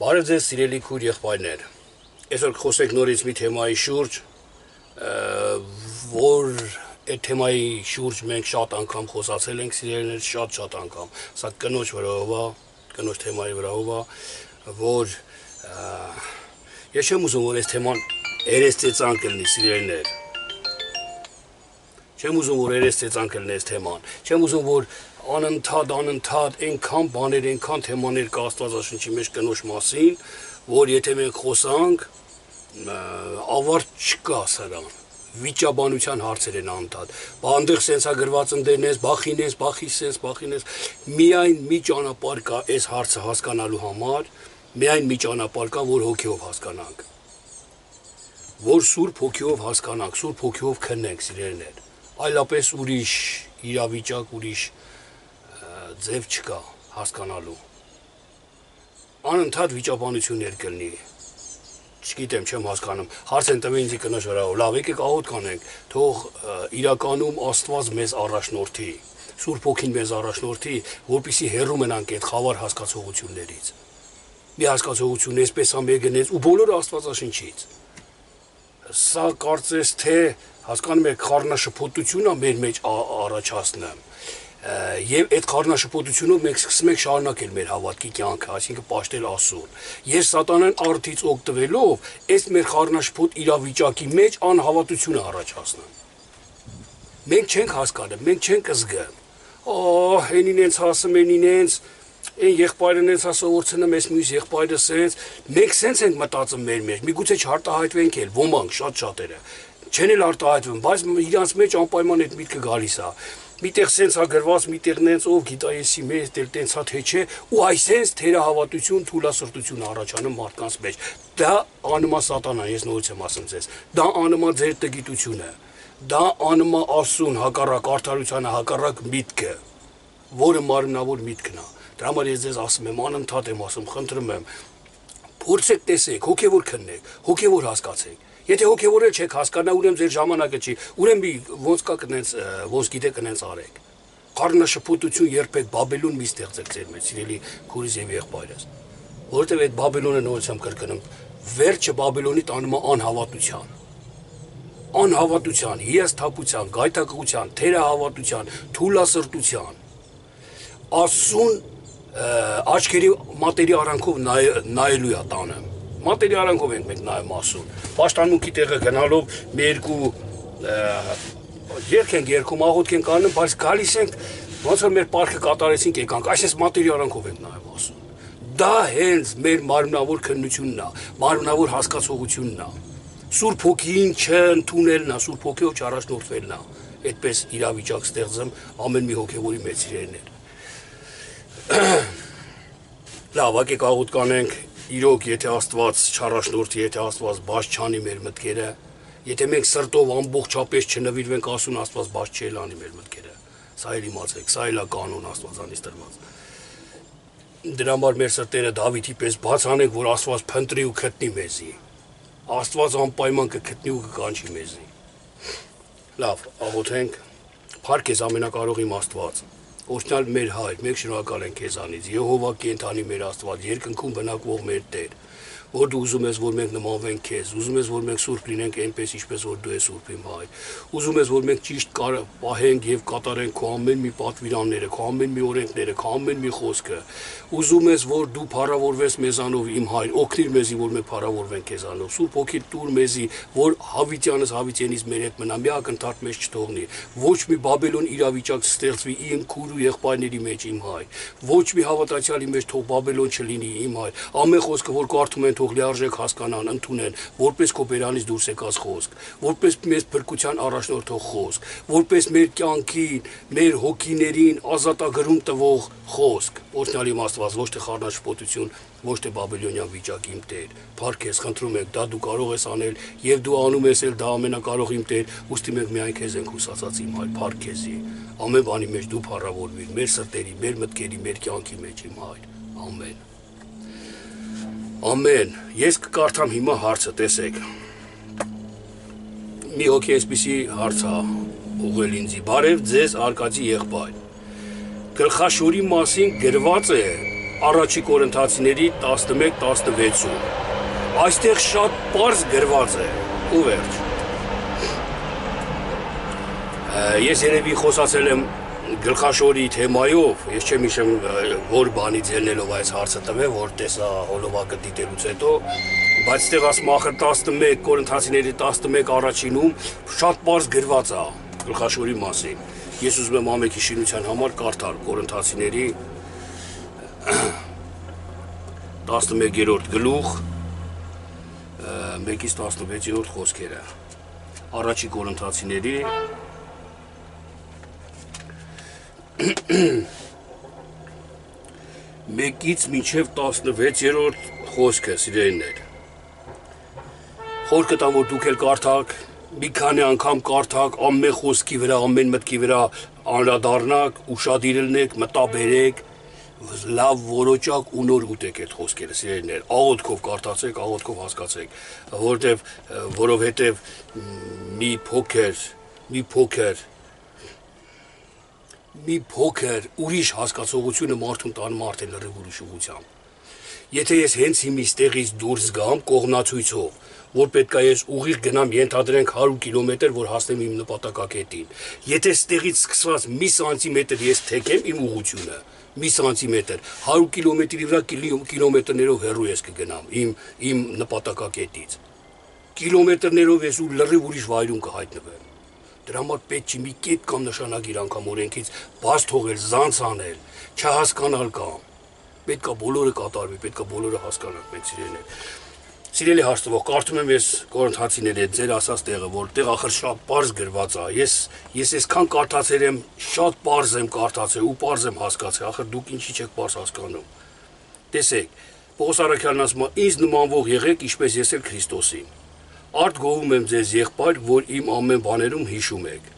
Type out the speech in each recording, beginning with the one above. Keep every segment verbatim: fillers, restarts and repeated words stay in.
Բարև ձեզ սիրելի քույր եղբայրներ, այսօր խոսենք նորից մի թեմայի շուրջ, որ այդ թեմայի շուրջ մենք շատ անգամ խոսացել ենք սիրելիներ, շատ-շատ անգամ, սա կնոջ վրայով է, կնոջ թեմայի վրայով է, որ ես չեմ ուզում, որ այս թեման երեսծեծան կլինի սիրելիներ, չեմ ուզում, որ երեսծեծան կլինի այս թեման, չեմ ուզում, որ անընդհատ, անընդհատ, այնքան բաներ, այնքան թեմաներ կա Աստվածաշնչի մեջ կնոջ մասին, որ եթե մենք խոսանք, ավարտ չկա սրան, վիճաբանության հարցեր են անընդհատ, բանդեղ սենցա գրված ընդերնես, բախինես, բախիսես, բախինես, միայն մի ճանապարհ կա այս հարցը հասկանալու համար, միայն մի ճանապարհ կա, որ հոգեով հասկանանք, որ Սուրբ հոգեով հասկանանք, Սուրբ հոգեով քննենք սիրելիներ, այլապես ուրիշ իրավիճակ, ուրիշ ձև չկա հասկանալու, անընդհատ վիճաբանություններ կլինի, չգիտեմ, չեմ հասկանում, հարց են տվել ինձի կնոջ վրայով, լավ եկեք աղոթ կանենք, թող իրականում Աստված մեզ առաջնորդի, Սուրբ Հոգին մեզ առաջնորդի, որպեսզի հեռու մնանք այդ խավար հասկացողություններից, մի հասկացողություն այսպես է մեգնեց ու բոլորը Աստվածաշնչից, սա կարծես թե հասկանում եք խառնաշփոթություն է մեր մեջ առաջացնում, Եվ այդ խառնաշփոթությունով մենք սկսում ենք շարունակել մեր հավատքի կյանքը, այսինքն պաշտել Աստծուն։ Ես սատանան արդից օգտվելով, այս մեր խառնաշփոթ իրավիճակի մեջ անհավատություն է առաջացնում։ Մենք չենք հասկանում, մենք չենք զգում։ Օ, հենին ինձ ասում են ինձ, այն եղբայրն ինձ ասողորցնում, այս մյուս եղբայրը սենց, մենք սենց ենք մտածում մեր մեջ, միգուցե չարտահայտվենք էլ, ոմանք շատ-շատերը, չեն էլ արտահայտվում, բայց իրանց մեջ անպայման այդ միտքը գալիս է։ Միտեղ սենց է գրված, միտեղ նենց ով գիտա եսի մեզ, դել տենց հա թե չէ, ու այսենց թերահավատություն, թուլասրտություն առաջանում մարդկանց մեջ։ Դա անումա սատանան, ես նորից եմ ասում ձեզ, դա անումա ձեր տգիտությունը, դա անումա Աստծուն հակառակ արդարությանը, հակառակ միտքը, որը մարմնավոր միտքն է։ Դրա համար ես ձեզ ասում եմ, անընդհատ եմ ասում, խնդրում եմ, փորձեք տեսեք, հոգևոր քննեք, հոգևոր հասկացեք։ Եթե հոգևորել չեք հասկանա, ուրեմն ձեր ժամանակը չի, ուրեմն մի ոնց կա կնենց, ոնց գիտեք կնենց արեք։ Խառնաշփոթություն երբեք Բաբելոն մի ստեղծեք ձեր մեջ, սիրելի քուրիս եւ եղբայրս։ Որովհետեւ այդ Բաբելոնը նորից եմ կրկնում, վերջը Բաբելոնի տանում է անհավատության։ Անհավատության, հիասթափության, գայթակղության, թերահավատության, թուլասրտության։ Աստծուն աչքերի մատերի արանքով նայելու է տանը։ Մատերի արանքով ենք մենք նայում Աստծուն։ Պաշտամունքի տեղը գնալով մի երկու երգ ենք երգում, աղոթք ենք անում, բայց գալիս ենք ոնց որ մեր պարքը կատարեցինք եկանք, այսպես մատերի արանքով ենք նայում Աստծուն։ Դա հենց մեր մարմնավոր քննությունն է, մարմնավոր հասկացողությունն է։ Սուրբ Հոգին չընդունելն է, Սուրբ Հոգիով չառաջնորդվելն է։ Այդպես իրավիճակ ստեղծեմ ամեն մի հոգևորի մեծ իրերներ։ Լավ, եկեք աղոթք կանենք։ Իրոք, եթե Աստված չառաջնորդի, եթե Աստված բաց չանի մեր մտքերը, եթե մենք սրտով ամբողջապես չնվիրվենք Աստծուն, Աստված բաց չի անի մեր մտքերը։ Սա էլ իմացեք, սա էլ է կանոն Աստվածանից տրված։ Դրա համար մեր սրտերը Դավիթի պես բաց անենք, որ Աստված փնտրի ու գտնի մեզի։ Աստված անպայման կգտնի ու կկանչի մեզի։ Լավ, աղոթենք։ Փառք քեզ ամենակարող իմ Աստված։ Օրհնյալ մեր հայր, մենք շնորհակալ ենք քեզանից, Եհովա կենթանի մեր Աստված, երկնքում բնակվող մեր Տեր, որ դու ուզում ես, որ մենք նմանվենք քեզ, ուզում ես, որ մենք սուրբ լինենք այնպես, ինչպես որ դու ես սուրբ իմ հայր, ուզում ես, որ մենք ճիշտ պահենք եւ կատարենք քո ամեն մի պատվիրանները, քո ամեն մի օրենքները, քո ամեն մի խոսքը, ուզում ես, որ դու փառավորվես մեզանով իմ հայր, օգնիր մեզի, որ մենք փառավորվենք քեզանով, Սուրբ Հոգի տուր մեզի, որ Հավիտյանս Հավիտյանից մեր հետ մնա, մի ակնթարթ մեզ չթողնի, ոչ մի Բաբելոն իրավիճակ չստեղծվի իմ քույր ու եղբայրների մեջ իմ հայր, ոչ մի հավատացյալի մեջ թող Բաբելոն չլինի իմ հայր, ամեն խոսքը որ կարդում են թող լիարժեք հասկանան, ընդունեն, որպես քո բերանից դուրս եկած խոսք, որպես մեզ փրկության առաջնորդող խոսք, որպես մեր կյանքին, մեր հոգիներին ազատագրում տվող խոսք, օրհնյալ իմ Աստված, ոչ թե խառնաշփոթություն, ոչ թե բաբելոնյան վիճակ իմ Տեր, փառք քեզ, խնդրում ենք, դա դու կարող ես անել եւ դու անում ես էլ դա ամենակարող իմ Տեր, ուստի մենք միայն քեզ ենք հուսացած իմ հայր, փառք քեզի, ամեն բանի մեջ դու փառավորվիր, մեր սրտերի, մեր մտքերի, մեր կյանքի մեջ իմ հայր, ամեն։ Ամեն, ես կկարդամ հիմա հարցը, տեսեք, մի հոգի այսպիսի հարց է ուղղել ինձի, բարև ձեզ Արկադի եղբայր, գլխաշորի մասին գրված է, Առաջի Կորինթացիների տասնմեկ տասնվեցում։ Այստեղ շատ պարզ գրված է ու վերջ։ Ես երևի խոսացել եմ գլխաշորի թեմայով, ես չեմ հիշում որ բանից ելնելով այս հարցը տվե, որ տեսա հոլովակը դիտելուց հետո, բայց այստեղ ասում ախր տասնմեկ Կորինթացիների տասնմեկ առաջինում շատ պարզ գրված է գլխաշորի մասին։ Ես ուզում եմ ամենքի շինության համար կարդալ Կորինթացիների տասնմեկերորդ գլուխ մեկից տասնվեցերորդ խոսքերը առաջի Կորինթացիների մեկից մինչև տասնվեցերորդ խոսքը սիրելիներ խորքը տամ որ դուք էլ կարդաք մի քանի անգամ կարդաք ամեն խոսքի վրա ամեն մտքի վրա անդրադառնաք ուշադիր ելնեք մտաբերեք լավ որոճակ ու նոր ուտեք այդ խոսքերը սիրելիներ աղոթքով կարդացեք աղոթքով հասկացեք որտեվ որովհետև մի փոքր մի փոքր մի փոքր ուրիշ հասկացողությունը մարդուն տան մարդ է լրիվ ուրիշ ուղղությամբ եթե ես հենց հիմից տեղից դուրս գամ կողմնացույցով որ պետք է ես ուղիղ գնամ ենթադրենք հարյուր կիլոմետր որ հասնեմ իմ նպատակակետին եթե ստեղից սկսված մի սանտիմետր ես թեքեմ իմ ուղղությունը մի սանտիմետր հարյուր կիլոմետրի վրա կիլոմետրներով հեռու ես կգնամ իմ իմ նպատակակետից կիլոմետրներով ես ու լրիվ ուրիշ վայրում կհայտնվեմ դրա համար պետք չի մի կետ կամ նշանագիր անգամ օրենքից բաց թողել զանց անել չհասկանալ կամ պետք է բոլորը կատարվի պետք է բոլորը հասկանանք մենք սիրելիներ Սիրելի հաշտվող, կարդում եմ ես Կորինթացիների հետ ձեր ասած տեղը, որտեղ ախր շատ պարզ գրված է։ Ես ես այսքան կարդացել եմ, շատ պարզ եմ կարդացել ու պարզ եմ հասկացել, ախր դուք ինչի չեք պարզ հասկանում։ Տեսեք, Պողոս Արաքյալն ասում է, ինձ նմանվող եղեք, ինչպես ես էլ Քրիստոսին։ Արդ գովում եմ ձեզ եղբայր, որ իմ ամեն բաներում հիշում եք։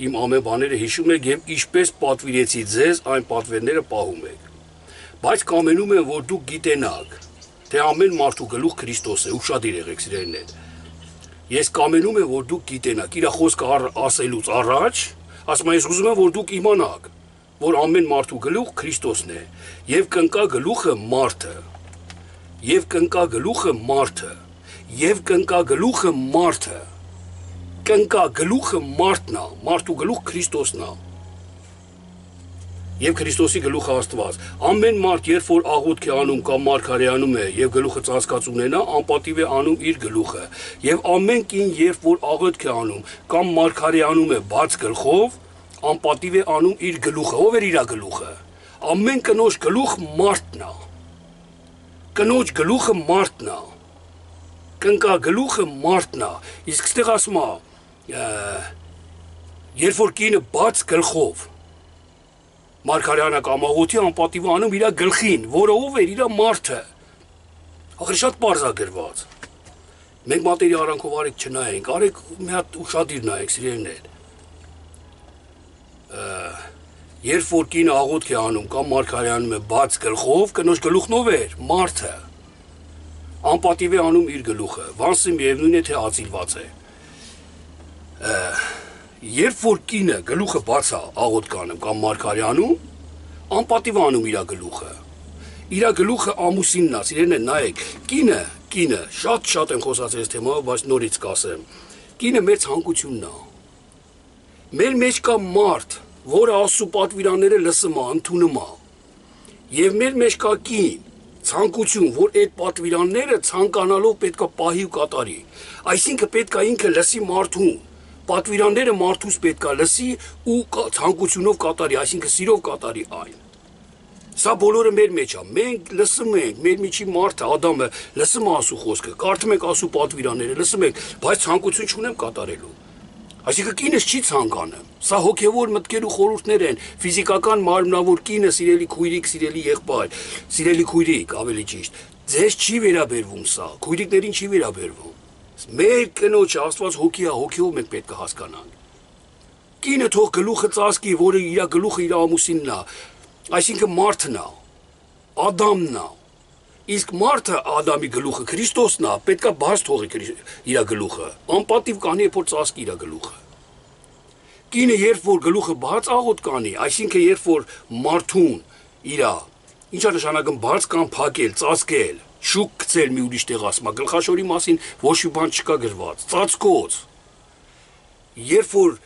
Իմ ամեն բաները հիշում եք եւ ինչպես պատվիրեցի ձեզ, այն պատվերները պահում եք։ Բայց կամենում եմ, որ դուք գիտենաք թե ամեն մարդու գլուխ Քրիստոս է, ուշադիր եղեք սիրելիներ։ Ես կամենում եմ, որ դուք գիտենաք, իր խոսքը ասելուց առաջ, ասում եմ, ես ուզում եմ, որ դուք իմանաք, որ ամեն մարդու գլուխ Քրիստոսն է, եւ կնկա գլուխը մարդը, եւ կնկա գլուխը մարդը, եւ կնկա գլուխը մարդը, կնկա գլուխը մարդն է, մարդու գլուխ Քրիստոսն է։ Եվ Քրիստոսի գլուխը Աստված։ Ամեն մարդ, երբ որ աղոթք է անում կամ մարգարեանում է եւ գլուխը ծածկած ունենա, անպատիվ է անում իր գլուխը։ Եվ ամեն կին, երբ որ աղոթք է անում կամ մարգարեանում է բաց գլխով, անպատիվ է անում իր գլուխը։ Ով է իր գլուխը։ Ամեն կնոջ գլուխ մարդն է։ Կնոջ գլուխը մարդն է։ Կնկա գլուխը մարդն է։ Իսկ ստեղ ասում է, երբ որ կինը բաց գլխով Մարգարյանը կամ աղոթի անպատիվ անում իր գլխին, որը ով էր իր մարդը։ Ախր շատ պարզ է գրված։ Մենք մատերի արանքով արեք չնայենք, արեք մի հատ ուշադիր նայեք սիրելիներ։ Երբ որ կինը աղոթք է անում կամ մարգարյանում է բաց գլխով, կնոջ գլուխն ով էր, մարդը։ Անպատիվ է անում իր գլուխը, վանսը միևնույն է թե ածիլված է։ Երբ որ կինը գլուխը բաց է աղոթք անում կամ մարգարյանում, անպատիվ անում իր գլուխը։ Իր գլուխը ամուսինն է, սիրելիներ, նայեք, կինը, կինը, շատ-շատ եմ խոսացել այս թեմայով, բայց նորից կասեմ։ Կինը մեր ցանկությունն է։ Մեր մեջ կա մարդ, որը Աստծո պատվիրանները լսում է, ընդունում է։ Եվ մեր մեջ կա կին, ցանկություն, որ այդ պատվիրանները ցանկանալով պետք է պահի ու կատարի։ Այսինքն պետք է ինքը լսի մարդուն։ Պատվիրանները մարդուց պետք է լսի ու ցանկությունով կատարի, այսինքն սիրով կատարի այն։ Սա բոլորը մեր մեջ է։ Մենք լսում ենք, մեր միջի մարդը, Ադամը լսում է Աստծո խոսքը, կարդում ենք Աստծո պատվիրանները, լսում ենք, բայց ցանկություն չունեմ կատարելու։ Այսինքն կինս չի ցանկանում։ Սա հոգևոր մտքեր ու խորհուրդներ են, ֆիզիկական մարմնավոր կինը, սիրելի քույրիկ, սիրելի եղբայր, սիրելի քույրիկ, ավելի ճիշտ։ Ձեզ չի վերաբերվում սա, քույրիկներին չի վերաբերվում։ Մեր կնոջ Աստված հոգի է, հոգիով մենք պետք է հասկանանք։ Կինը թող գլուխը ծածկի, որը իր գլուխը իր ամուսինն է, այսինքն մարդն է, Ադամն է։ Իսկ մարդը Ադամի գլուխը Քրիստոսն է, պետք է բաց թողի իր գլուխը, անպատիվ կանի է որ ծածկի իր գլուխը։ Կինը երբ որ գլուխը բաց աղոթք կանի, այսինքն երբ որ մարդուն իր Ինչա նշանակում բաց կամ փակել, ծածկել, շուկ գցել մի ուրիշ տեղ ասма, գլխաշորի մասին ոչ մի բան չկա գրված, ծածկոց։ Երբ որ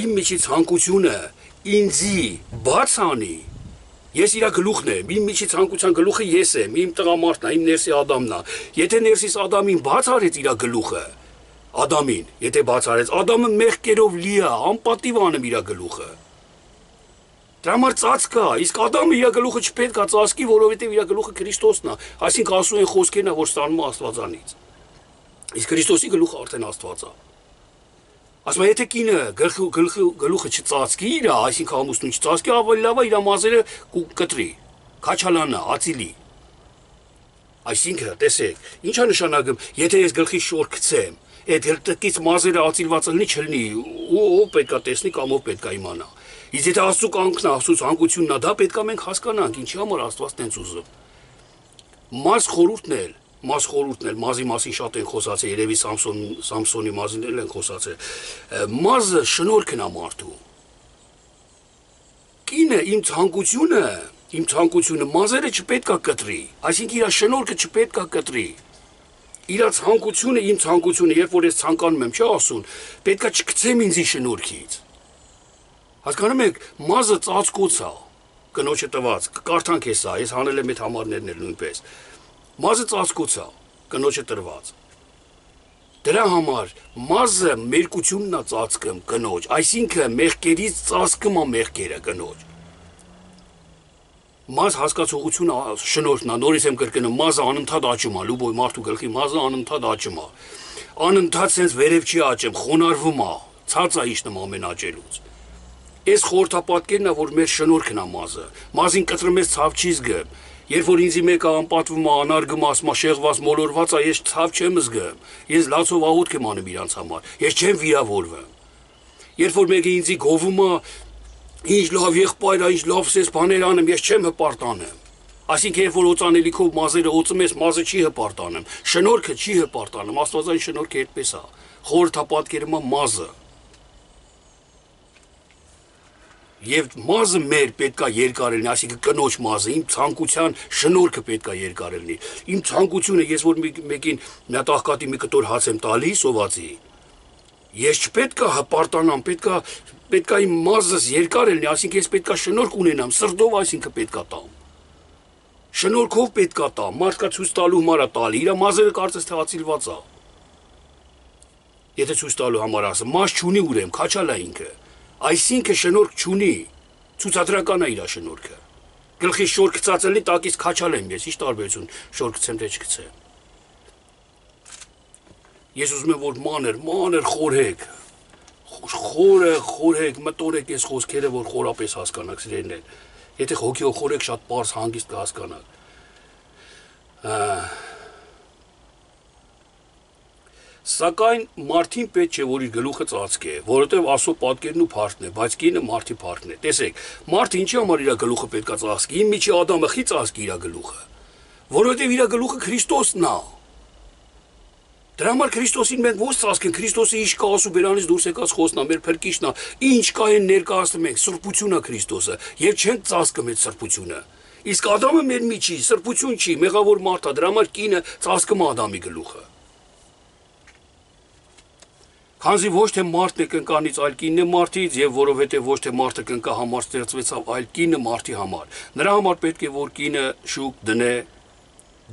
իմ միջից ցանկությունը ինձի բաց անի, ես իրա գլուխն եմ, իմ միջից ցանկության գլուխը ես եմ, իմ տղամարդն է, իմ ներսի Ադամն է։ Եթե ներսիս Ադամին բաց արեց իրա գլուխը, Ադամին, եթե բաց արեց, Ադամը մեղքերով լի է, անպատիվ անում իրա գլուխը։ Դրա համար ծածկա, իսկ Ադամը իր գլուխը չպետք է ծածկի, որովհետև իր գլուխը Քրիստոսն է, այսինքն ասում են խոսքերն է, որ ստանում է Աստվածանից։ Իսկ Քրիստոսի գլուխը արդեն Աստված է։ Ասում է, եթե կինը գլուխը չծածկի իր, այսինքն ամուսնուն չծածկի, ավելի լավ է իր մազերը կտրի, քաչալանա, ածիլի։ Այսինքն, տեսեք, ի՞նչ է նշանակում, եթե ես գլխի շոր գցեմ, այդ գլտկից մազերը ածիլված լինի, չլինի, ով պետք է տեսնի կամ ով պետք է իմանա։ Իսկ եթե Աստծո կամքն է, Աստծո ցանկությունն է, դա պետք է մենք հասկանանք, ինչի համար Աստված տենց ուզում։ Մազ խորհուրդն էլ, մազ խորհուրդն էլ, մազի մասին շատ են խոսացել, երևի Սամսոն, Սամսոնի մազին էլ են խոսացել։ Մազը շնորհքն է մարդու։ Կինը իմ ցանկությունը, իմ ցանկությունը մազերը չպետք է կտրի, այսինքն իր շնորհքը չպետք է կտրի։ Իր ցանկությունը, իմ ցանկությունը, երբ որ ես ցանկանում եմ, չի ասում, պետք է չգցեմ ինձի շնորհքից։ Հասկանում եք, մազը ծածկոց է, կնոջը տված, կարդանք հեսա, ես հանել եմ այդ համարներն էլ նույնպես։ Մազը ծածկոց է, կնոջը տրված։ Դրա համար մազը մերկությունն է ծածկում կնոջ, այսինքն մեղքերից ծածկում է մեղքերը կնոջ։ Մազ հասկացողությունը շնորհքն է, նորից եմ կրկնում, մազը անընդհատ աճում է, լուբոյ մարդու գլխի մազը անընդհատ աճում է։ Անընդհատ sense վերև չի աճում, խոնարհվում է, ցած է իջնում ամեն աճելուց։ Այս խորհրդապատկերն է, որ մեր շնորհքն է մազը։ Մազին կտրում ես ցավ չի զգում։ Երբ որ ինձի մեկը անպատվում է, անարգում է, ասում է շեղված, մոլորված է, ես ցավ չեմ զգում։ Ես լացով աղոթք եմ անում իրանց համար։ Ես չեմ վիրավորվում։ Երբ որ մեկը ինձի գովում է, ինչ լավ եղբայր է, ինչ լավ սես բաներ անում, ես չեմ հպարտանում։ Այսինքն երբ որ օծանելիքով մազերը օծում ես, մազը չի հպարտանում, շնորհքը չի հպարտանում, Աստվածային շնորհքը այդպես է։ Խորհրդապատկերում է մազը։ Եվ մազը մեր պետքա երկար լինի, այսինքն կնոջ մազը, իմ ցանկության շնորհքը պետքա երկար լինի։ Իմ ցանկությունը, ես որ մեկին մի հատ աղքատի մի կտոր հաց եմ տալի, սովածի, ես չպետքա հպարտանամ, պետքա պետքա իմ մազս երկար լինի, այսինքն ես պետքա շնորհք ունենամ, սրտով այսինքն պետքա տամ։ Շնորհքով պետքա տամ, մարդկա ցույց տալու համար է տալի, իր մազերը կարծես թե ածիլված է։ Եթե ցույց տալու համար ասեմ, մազ չունի ուրեմն, քաչալ է ինքը։ Այսինքն շնորհք չունի, ցուցադրական է իր շնորհքը։ Գլխի շոր գծածելի տակից քաչալ եմ ես, ի՞նչ տարբերություն շոր գցեմ թե չգցեմ։ Ես ուզում եմ որ մանր, մանր խորհեք, խորը խորհեք, մտորեք այս խոսքերը, որ խորապես հասկանաք սիրելիներ։ Եթե հոգիով խորհեք, շատ պարզ հանգիստ կհասկանաք։ Սակայն մարդին պետք չէ, որ իր գլուխը ծածկե, որովհետև Աստծո պատկերն ու փառքն է, բայց կինը մարդի փառքն է։ Տեսեք, մարդը ինչի համար իր գլուխը պետք է ծածկի, իմ միջի Ադամը խի ծածկի իր գլուխը, որովհետև իր գլուխը Քրիստոսն է։ Դրա համար Քրիստոսին մենք ո՞ց ծածկենք, Քրիստոսը ինչ կա ասու բերանից դուրս եկած խոսքն է, մեր փրկիչն է, ինչ կա այն ներկայացնում ենք, սրբություն է Քրիստոսը, եւ չենք ծածկում այդ սրբությունը։ Իսկ Ադամը մեր միջի սրբություն չի, մեղավոր մարդ է, դրա համար կինը ծածկում է Ադամի գլուխը։ Քանզի ոչ թե մարդն է կնկանից, այլ կինն է մարդից, եւ որովհետեւ ոչ թե մարդը կնկա համար ստեղծվեցավ, այլ կինը մարդի համար։ Նրա համար պետք է որ կինը շուկ դնե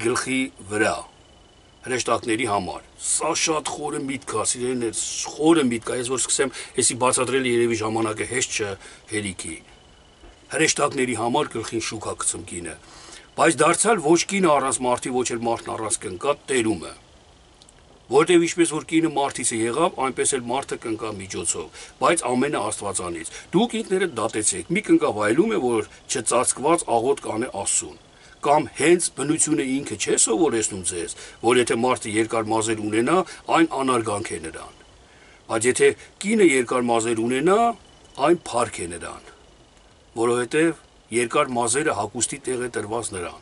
գլխի վրա հրեշտակների համար։ Սա շատ խորը միտք է, սիրելիներ, խորը միտք է, ես որ սկսեմ, էսի բացատրել երևի ժամանակը հեշտ չէ հերիքի։ Հրեշտակների համար գլխին շուկ է գցում կինը։ Բայց դարձյալ ոչ կինը առանց մարդի, ոչ էլ մարդն առանց կնկա տերում է։ Որտեւ ինչպես որ կինը մարդից է եղավ, այնպես էլ մարդը կնկա միջոցով, բայց ամենը Աստվածանից։ Դուք ինքներդ դատեցեք, մի կնկավ այլում է, որ չծածկված աղոթք կանե Աստծուն, կամ հենց բնությունը ինքը չէ սովորեցնում ձեզ, որ եթե մարդը երկար մազեր ունենա, այն անարգանք է նրան։ Բայց եթե կինը երկար մազեր ունենա, այն փառք է նրան, որովհետեւ երկար մազերը հագուստի տեղ է տրված նրան։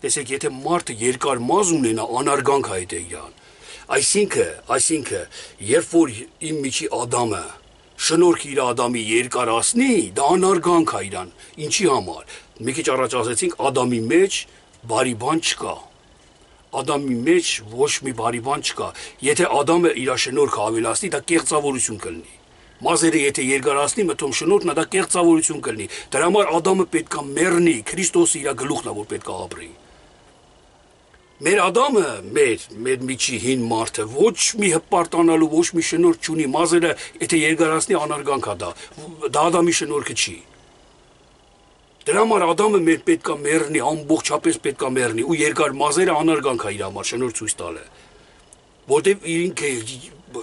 Տեսեք, եթե մարդը երկար մազ ունենա, անարգանք է դա իրան։ Այսինքն, այսինքն, երբ որ իմ միջի Ադամը շնորհք իր Ադամի երկարացնի, դա անարգանք է իրան։ Ինչի համար։ Մի քիչ առաջ ասացինք Ադամի մեջ բարի բան չկա։ Ադամի մեջ ոչ մի բարի բան չկա։ Եթե Ադամը իր շնորհքը ավելացնի, դա կեղծավորություն կլինի։ Մազերը եթե երկարացնի, մտում շնորհքն դա կեղծավորություն կլինի։ Դրա համար Ադամը պետքա մեռնի, Քրիստոսը իր գլուխն է, որ պետքա ապրի։ Մեր Ադամը, մեր, մեր միջի հին մարդը ոչ մի հպարտանալու, ոչ մի շնորհք չունի, մազերը եթե երկարացնի անարգանք է դա, դա Ադամի շնորհքը չի։ Դրա համար Ադամը մեր պետքա մեռնի, ամբողջապես պետքա մեռնի, ու երկար մազերը անարգանք է իր համար շնորհք ցույց տալը։ Որտեւ ինքը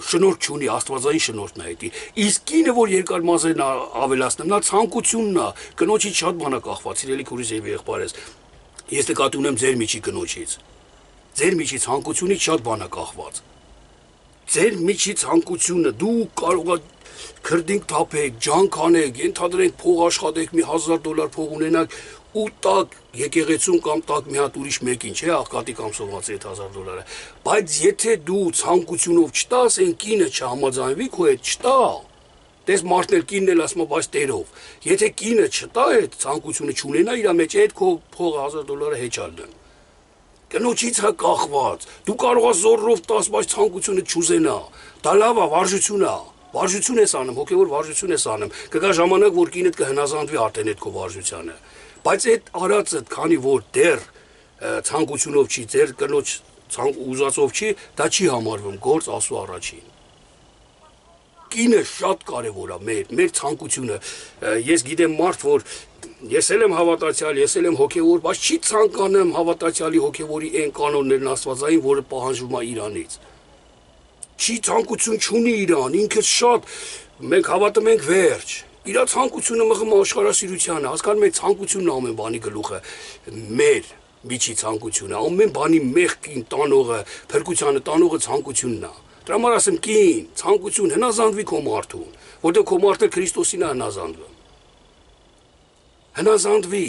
շնորհք չունի, աստվածային շնորհքն է դա։ Իսկ կինը, որ երկար մազերն ավելացնում, նա ցանկությունն է, կնոջից շատ բան է կախված, իրելի քուրիս եւ եղբայրս։ Ես նկատի ունեմ ձեր միջի կնոջից։ Ձեր միջի ցանկությունից շատ բան է կախված։ Ձեր միջի ցանկությունը դու կարող ես քրդինք թափեք, ջանք անեք, ենթադրենք փող աշխատեք, մի հազար դոլար փող ունենաք ու տակ եկեղեցուն կամ տակ մի հատ ուրիշ մեկին, չէ, աղքատի կամ սողացի այդ հազար դոլարը։ Բայց եթե դու ցանկությունով չտաս, այն կինը չհամաձայնվի քո հետ, չտա։ Դες մարդն էլ կինն էլ ասում է, բայց տերով։ Եթե կինը չտա այդ ցանկությունը չունենա իր մեջ, այդ քո փողը հազար դոլարը հեչալ դն։ Կնոջից է կախված։ Դու կարող ես զորով տաս, բայց ցանկությունը չուզենա։ Դա լավ է, վարժություն է։ Վարժություն ես անում, հոգևոր վարժություն ես անում։ Կգա ժամանակ, որ կինդ կհնազանդվի արդեն այդ քո վարժությանը։ Բայց այդ արածը, քանի որ դեռ ցանկությունով չի, ձեր կնոջ ցանկ ուզածով չի, դա չի համարվում գործ Աստծո առաջին։ Կինը շատ կարևոր է մեր, մեր ցանկությունը։ Ես գիտեմ մարդ, որ ես էլ եմ հավատացյալ, ես էլ եմ հոգևոր, բայց չի ցանկանում հավատացյալի հոգևորի այն կանոններն աստվածային, որը պահանջվում է իրանից։ Չի ցանկություն չունի իրան, ինքը շատ մենք հավատում ենք վերջ։ Իր ցանկությունը մղում աշխարհասիրությանը, հասկանում եք ցանկությունն ամեն բանի գլուխը, մեր միջի ցանկությունը, ամեն բանի մեղքին տանողը, փրկությանը տանողը ցանկությունն է։ Դրա համար ասեմ կին, ցանկություն հնազանդվի քո մարդուն, որտեղ քո մարդը Քրիստոսին է հնազանդվում։ Հնազանդվի,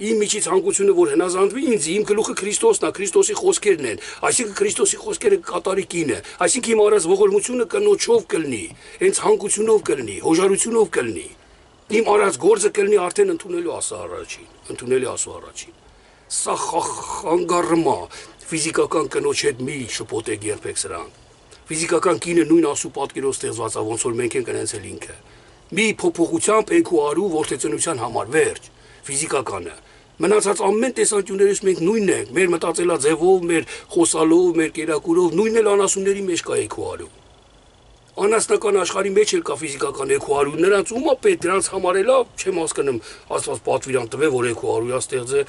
իմ միջի ցանկությունը որ հնազանդվի ինձ, իմ գլուխը Քրիստոսն է, Քրիստոսի խոսքերն են, այսինքն Քրիստոսի խոսքերը կատարի կինը, այսինքն իմ արած ողորմությունը կնոջով կլինի, այն ցանկությունով կլինի, հոժարությունով կլինի։ Իմ արած գործը կլինի արդեն ընդունելու Աստծո առաջին, ընդունելի Աստծո առաջին։ Սա խանգարում է ֆիզիկական կնոջ հետ մի շփոթեք երբեք սրան։ Ֆիզիկական կինը նույն Աստծո պատկերով ստեղծված է, ոնց որ մենք ենք կնեցել ինքը։ Մի փոփոխությամբ եք ու արու որդեծնության համար վերջ, ֆիզիկականը։ Մնացած ամեն տեսանկյուններից մենք նույնն ենք, մեր մտածելաձևով, մեր խոսալով, մեր կերակուրով, նույնն էլ անասունների մեջ կա եք ու արու։ Անասնական աշխարհի մեջ էլ կա ֆիզիկական եք ու արու, նրանց ում է պետք դրանց համարելա, չեմ հասկանում, Աստված պատվիրան տվե, որ եք ու արուя ստեղծե,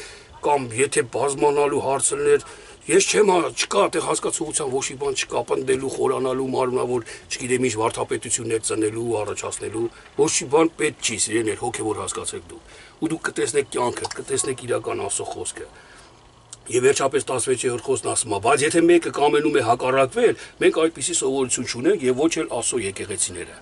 կամ եթե բազմանալու հարցներ Ես չեմ չկա այդտեղ հասկացողության ոչ մի բան չկա, պնդելու, խորանալու, մարմնավոր, չգիտեմ ինչ վարդապետություններ ծնելու, առաջացնելու, ոչ մի բան պետք չի, սիրելիներ, հոգևոր հասկացեք դուք։ Ու դուք կտեսնեք կյանքը, կտեսնեք իրական Աստծո խոսքը։ Եվ վերջապես տասնվեցերորդ խոսքն ասում է, բայց եթե մեկը կամենում է հակառակվել, մենք այդպիսի սովորություն չունենք եւ ոչ էլ Աստծո եկեղեցիները։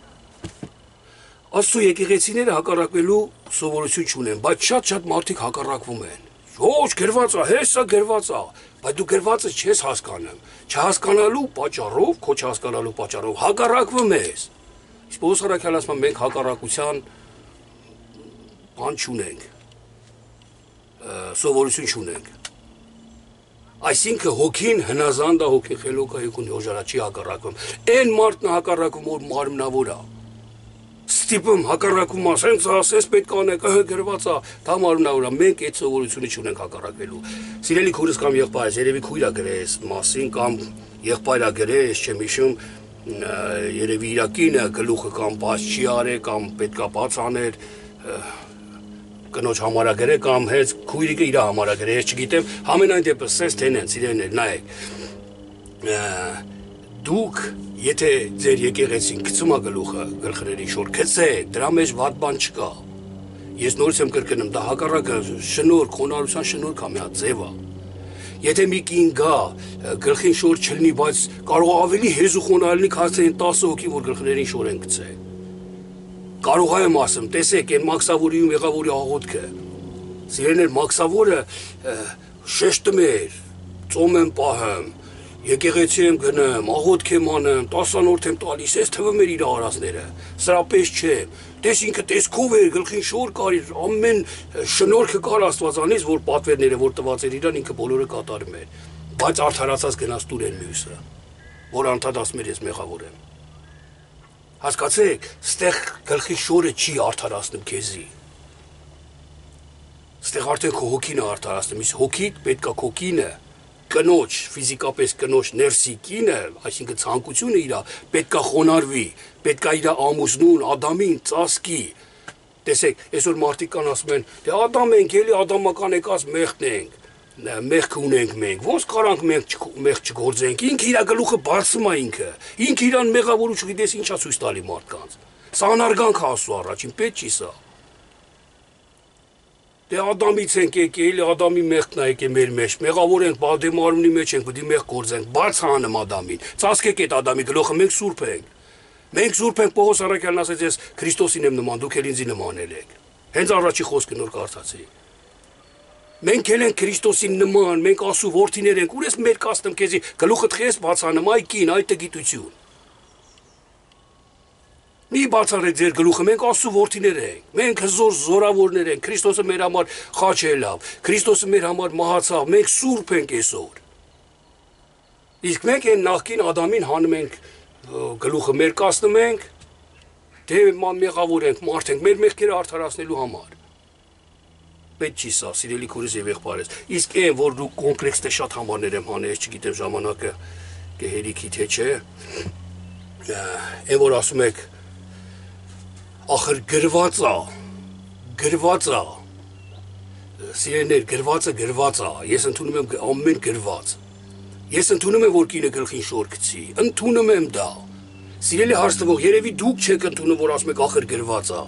Աստծո եկեղեցիները հակառակվելու սովորություն չունեն, բայց շատ-շատ մարդիկ հակառակվում են։ Ոչ, գրված է, հեսա գրված է, բայց դու գրվածը չես հասկանում։ Չհասկանալու պատճառով, քո չհասկանալու պատճառով հակառակվում ես։ Իսկ Պողոս առաքյալն ասում է, մենք հակառակության բան չունենք, սովորություն չունենք։ Այսինքն հոգին հնազանդ է, հոգին խելոք է, եկուն հոժարա չի հակառակվում։ Այն մարդն է հակառակվում, որ մարմնավոր է։ Ստիպում հակառակում ասենց ասես պետք անեք, ըհը գրված է, դա մարմնավոր է, մենք այդ սովորությունը չունենք հակառակվելու։ Սիրելի քուրս կամ եղբայրս, երևի քույր է գրես մասին կամ եղբայր է գրես, չեմ հիշում, երևի իր կինը գլուխը կամ բաց չի արել կամ պետքա բաց աներ, կնոջ համարագրե կամ հենց քույրիկը իր համարագրե, ես չգիտեմ, համենայն դեպս սենց թենեն, սիրելիներ, նայեք։ Դուք, եթե ձեր եկեղեցին գցում է գլուխը գլխրերի շոր, գցեք, դրա մեջ վատ բան չկա։ Ես նորից եմ կրկնում, դա հակառակը շնորհք, խոնարհության շնորհք է, մի հատ ձև է։ Եթե մի կին գա, գլխին շոր չլինի, բայց կարող ավելի հեզու խոնարհ լինի, քան այն տասը հոգի, որ գլխներին շոր են գցել։ Կարող եմ ասեմ, տեսեք, այն մաքսավորի ու մեղավորի աղոթքը։ Սիրելիներ, մաքսավորը շեշտում էր, ծոմ եմ պահում, եկեղեցի եմ գնեմ, աղոթք եմ անում, տասանորդ եմ տալիս, այս թվում էր իր արածները։ Սրա պես չէ։ Տես ինքը տեսքով էր, գլխին շոր կար, ամեն շնորհքը կար Աստվածանից, որ պատվերները, որ տված էր իրան, ինքը բոլորը կատարում էր։ Բայց արդարացած գնաց տուր են մյուսը, որ անդադ ասում էր ես մեղավոր եմ։ Հասկացեք, ստեղ գլխի շորը չի արդարացնում քեզի։ Ստեղ արդեն քո հոգին է արդարացնում, իսկ հոգիդ պետք է քո կինը, կնոջ, ֆիզիկապես կնոջ ներսի կինը, այսինքն ցանկությունը իրա, պետք է խոնարհվի, պետք է իրա ամուսնուն, Ադամին ծածկի։ Տեսեք, այսօր մարդիկ կան ասում են, դե Ադամ ենք, էլի ադամական եկած մեղքն ենք, մեղք ունենք մենք, ոնց կարանք մենք մեղք չգործենք, ինքը իր գլուխը բարձում է ինքը, ինքը իրան մեղավոր ու չգիտես ինչա ցույց տալի մարդկանց։ Սա անարգանք է Աստծո առաջին, պետք չի սա։ Դե Ադամից ենք եկել, Ադամի մեղքն է եկել մեր մեջ, մեղավոր ենք, բադեմ արունի մեջ ենք, պետք է մեղք գործենք, բաց հանում Ադամին, ծածկեք այդ Ադամի գլուխը, մենք սուրբ ենք։ Մենք սուրբ ենք, Պողոս առաքյալն ասեց, ես Քրիստոսին եմ նման, դուք էլ ինձի նմանել եք։ Հենց առաջի խոսքը նոր կարդացի։ Մենք էլ ենք Քրիստոսին նման, մենք Աստծո որդիներ ենք, ուր ես մեր կաստում քեզի գլուխը թխես բաց հանում, այ կին, այ տգիտություն։ Մի բացառեք ձեր գլուխը, մենք Աստծո որդիներ ենք, մենք հզոր զորավորներ ենք, Քրիստոսը մեր համար խաչելավ, Քրիստոսը մեր համար մահացավ, մենք սուրբ ենք այսօր։ Իսկ մենք այն նախկին Ադամին հանում ենք գլուխը մեր կասնում ենք, դե մեղավոր ենք, մարդ ենք, մեր մեղքերը արդարացնելու համար։ Պետք չի սա, սիրելի քուրս եւ եղբայրս։ Իսկ այն, որ դու կոմպլեքս դե շատ համարներ եմ հանել, չգիտեմ ժամանակը կհերիքի թե չէ, այն որ ասում եք ախր գրված է, գրված է, սիրելիներ, գրվածը գրված է, ես ընդունում եմ ամեն գրված, ես ընդունում եմ, որ կինը գլխին շոր գցի, ընդունում եմ դա, սիրելի հարցնվող, երևի դուք չեք ընդունում, որ ասում եք ախր գրված է,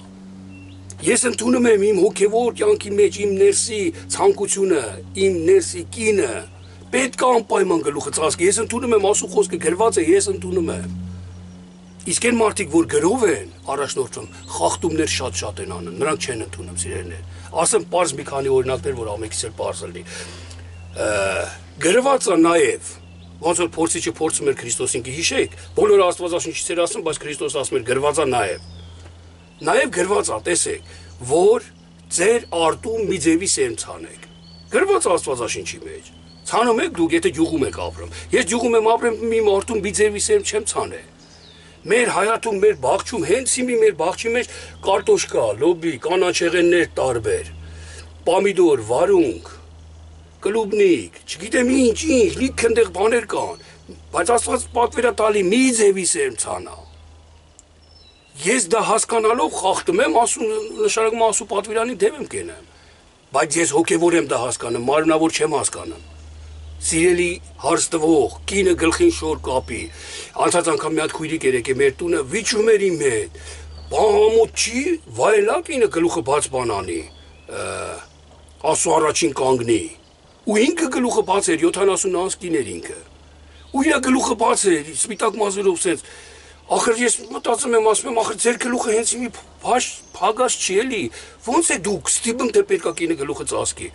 ես ընդունում եմ իմ հոգևոր կյանքի մեջ իմ ներսի ցանկությունը, իմ ներսի կինը, պետք է անպայման գլուխը ծածկի, ես ընդունում եմ Աստծո խոսքը գրված է, ես ընդունում եմ։ Իսկ այն մարդիկ, որ գրով են առաջնորդում, խախտումներ շատ-շատ են անում, նրանք չեն ընդունում, սիրելիներ։ Ասեմ պարզ մի քանի օրինակներ, որ ամենքից էլ պարզ լինի։ Գրված է նաև, ոնց որ փորձիչը փորձում էր Քրիստոսին, գիշեք, բոլորը Աստվածաշնչից էր ասում, բայց Քրիստոս ասում էր գրված է նաև։ Նաև գրված է, տեսեք, որ ձեր արտում մի ձևի սերմ ցանեք։ Գրված է Աստվածաշնչի մեջ։ Ցանում եք դուք, եթե գյուղում եք ապրում։ Ես գյուղում եմ ապրում, մի արտում մի ձևի սերմ չեմ ցանել։ Մեր հայատում, մեր բաղջում, հենց հիմի մեր բաղջի մեջ կարտոշկա, լոբի, կանաչեղեններ տարբեր, պամիդոր, վարունգ, կլուբնիկ, չգիտեմ ինչ, ինչ, լիք ընդեղ բաներ կան, բայց Աստված պատվեր է տալի մի ձևի սերմ ցանա։ Ես դա հասկանալով խախտում եմ, ասում նշանակում Աստծո պատվիրանի դեմ եմ կենեմ, բայց ես հոգևոր եմ դա հասկանում, մարմնավոր չեմ հասկանում։ Սիրելի հարստվող, կինը գլխին շոր կապի, անցած անգամ մի հատ քույրիկ էր եկել մեր տունը, վիճում էր իմ հետ, բանամոտ չի, վայելա կինը գլուխը բաց բանանի, Աստծո առաջին կանգնի, ու ինքը գլուխը բաց էր, յոթանասուն անց կին էր ինքը, ու իր գլուխը բաց էր, սպիտակ մազերով սենց, ախր ես մտածում եմ, ասում եմ, ախր ձեր գլուխը հենց մի փագած չի էլի, ոնց է դուք ստիպում թե պետք է կինը գլուխը ծածկի։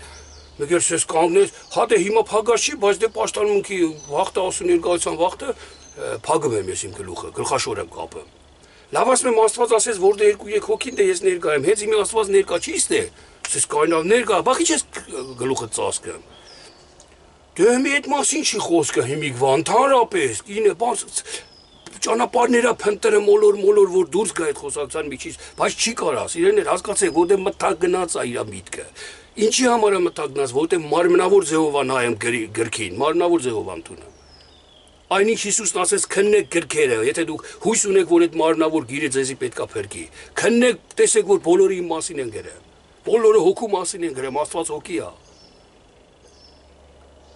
Մեկ էլ ես կանգնես, հա դե հիմա փագած չի, բայց դե պաշտամունքի վախտը ասու ներկայության վախտը փագում եմ ես իմ գլուխը, գլխաշոր եմ կապում։ Լավ ասում եմ, Աստված ասեց, որ դե երկու-երեք հոգին դե ես ներկա եմ, հենց իմի Աստված ներկա չի ստե, ես կայնավ ներկա, բախի չես գլուխը ծածկեմ։ Դե մի այդ մասին չի խոսքը հիմիկվա, ընդհանրապես, կինը ճանապարհները փնտրը մոլոր մոլոր որ դուրս գա այդ խոսակցության միջից, բայց չի կարա, իրեն էլ հասկացեք, որտեղ մտակ գնաց է իր միտքը։ Ինչի համար է մտակ գնաց, որտեղ մարմնավոր ձևով է նայում գրքին, մարմնավոր ձևով ընդունում։ Այնինչ Հիսուսն ասեց քննեք գրքերը, եթե դուք հույս ունեք, որ այդ մարմնավոր գիրը ձեզի պետքա փրկի։ Քննեք, տեսեք, որ բոլորը իմ մասին են գրել։ Բոլորը հոգու մասին են գրել, Աստված հոգի է։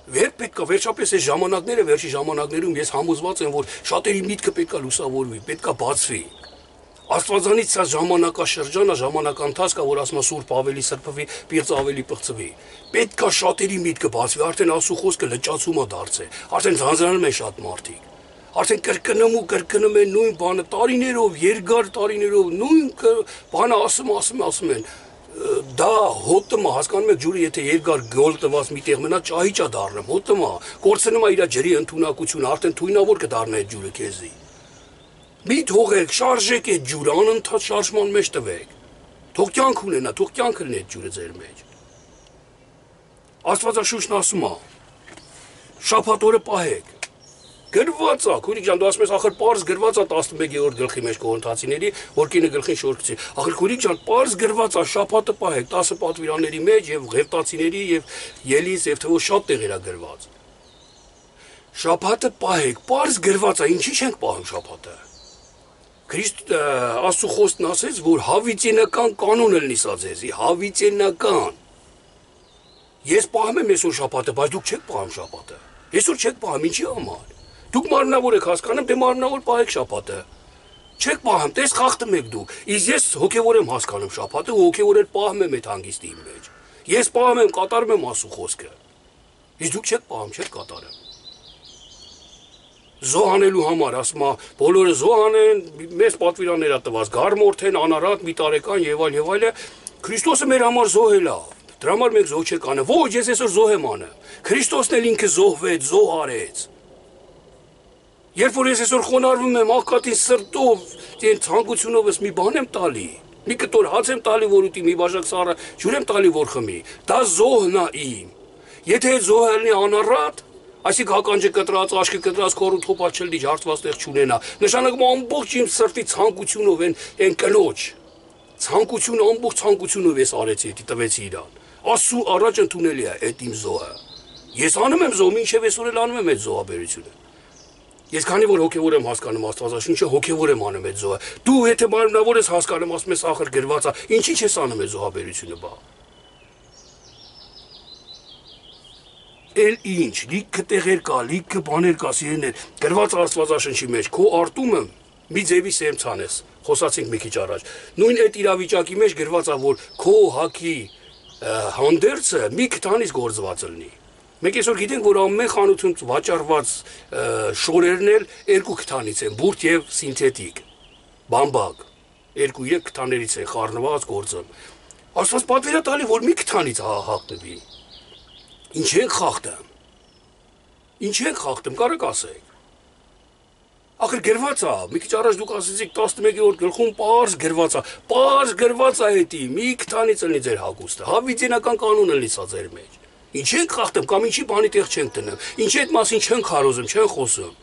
Վեր պետքա վերջապես այս ժամանակները, վերջի ժամանակներում ես համոզված եմ, որ շատերի միտքը պետքա լուսավորվի, պետքա բացվի։ Աստվածանից սա ժամանակաշրջանը, ժամանակընթացքը, որ ասում է Սուրբ ավելի սրբվի, Պիղծ ավելի պղծվի։ Պետքա շատերի միտքը բացվի, արդեն Աստծո խոսքը լճացում է դարձել, արդեն ձանձրանում են շատ մարդիկ։ Արդեն կրկնում ու կրկնում են նույն բանը տարիներով, երկար տարիներով, նույն բանը ասում, ասում, ասում են։ դա հոտը մա հասկանում եք ջուրը եթե երկար գոլ տված միտեղ մնա ճահիճ է դառնում հոտը մա կորցնում է իր ջրի ընդունակությունը արդեն թույնավոր կդառնա այդ ջուրը քեզի մի թողեք շարժեք այդ ջուրը անընդհատ շարժման մեջ տվեք թող կյանք ունենա թող կյանք լինի այդ ջուրը ձեր մեջ Աստվածաշունչն ասում է շաբաթ օրը պահեք գրված է քուրիկ ջան դու ասում ես ախր պարզ գրված է տասնմեկերորդ գլխի մեջ Կորինթացիների որ կինը գլխին շոր գցի ախր քուրիկ ջան պարզ գրված է շաբաթը պահեք տասը պատվիրանների մեջ եւ Ղևտացիների եւ Ելիս եւ թվով շատ տեղեր է գրված շաբաթը պահեք պարզ գրված է ինչի՞ չենք պահում շաբաթը Քրիստ Աստծո խոսքն ասեց որ հավիտենական կանոն լինի սա ձեզի հավիտենական Ես պահում եմ այսօր շաբաթը բայց դուք չեք պահում շաբաթը այսօր չեք պահում ինչի համար Դուք մարմնավոր եք հասկանում, դե մարմնավոր պահեք շաբաթը։ Չեք պահում, տես խախտում եք դուք։ Իսկ ես հոգևոր եմ հասկանում շաբաթը, ու հոգևոր էլ պահում եմ այդ հանգիստի իմ մեջ։ Ես պահում եմ, կատարում եմ Աստծո խոսքը։ Իսկ դուք չեք պահում, չեք կատարում։ Զոհանելու համար ասում է, բոլորը զոհանեն, մեծ պատվիրաններ է տված, գարմորթեն, անարատ, մի տարեկան եւ այլ եւ այլը։ Քրիստոսը մեր համար զոհել է։ Դրա համար մենք զոհ չեք անը։ Ոչ, ես այսօր զոհ եմ անը։ Քրիստոսն էլ ինքը զոհվեց, զոհ արեց։ Երբ որ ես այսօր խոնարհվում եմ աղքատին սրտով, այն ցանկությունովս մի բան եմ տալի, մի կտոր հաց եմ տալի, որ ուտի, մի բաժակ սառը ջուր եմ տալի, որ խմի, դա զոհն է իմ։ Եթե այդ զոհը լինի անառատ, այսինքն հականջը կտրած, աշկը կտրած, քորու թոփա չլի, ջարդված տեղ չունենա, նշանակում ամբողջ իմ սրտի ցանկությունով են այն կնոջ։ Ցանկությունը ամբողջ ցանկությունով ես արեցի, տվեցի իրան։ Աստծո առաջ ընդունելի է այդ իմ զոհը։ Ես անում եմ զոհ, ինչև այսօր էլ անում եմ այդ զոհաբերությունը։ Ես քանի որ հոգևոր եմ հասկանում Աստվածաշունչը, հոգևոր եմ անում այդ զոհը։ Դու եթե մարմնավոր ես հասկանում, ասում ես ախր գրված է, ինչի՞ չես անում այդ զոհաբերությունը բա։ Էլ ինչ, լիքը տեղեր կա, լիքը բաներ կա, սիրելիներ, գրված Աստվածաշունչի մեջ, քո արտումը մի ձևի սեմ ցանես, խոսացինք մի քիչ առաջ։ Նույն այդ իրավիճակի մեջ գրված է, որ քո հակի հանդերձը մի քթանից գործված լինի։ Մենք այսօր գիտենք, որ ամեն խանութում վաճառված շորերն էլ երկու քթանից են, բուրդ եւ սինթետիկ, բամբակ, երկու երեք քթաներից է խառնված գործում։ Աստված պատվեր է տալի, որ մի քթանից հաղթվի։ Ինչ են խախտում։ Ինչ են խախտում, կարեք ասեք։ Ախր գրված է, մի քիչ առաջ դուք ասեցիք տասնմեկերորդ գլխում պարզ գրված է, պարզ գրված է էդի, մի քթանից լինի ձեր հագուստը, հավիտենական կանոնը լինի սա ձեր մեջ։ Ինչ ենք խախտում կամ ինչի բանի տեղ չենք դնում, ինչ այդ մասին չենք քարոզում, չեն խոսում։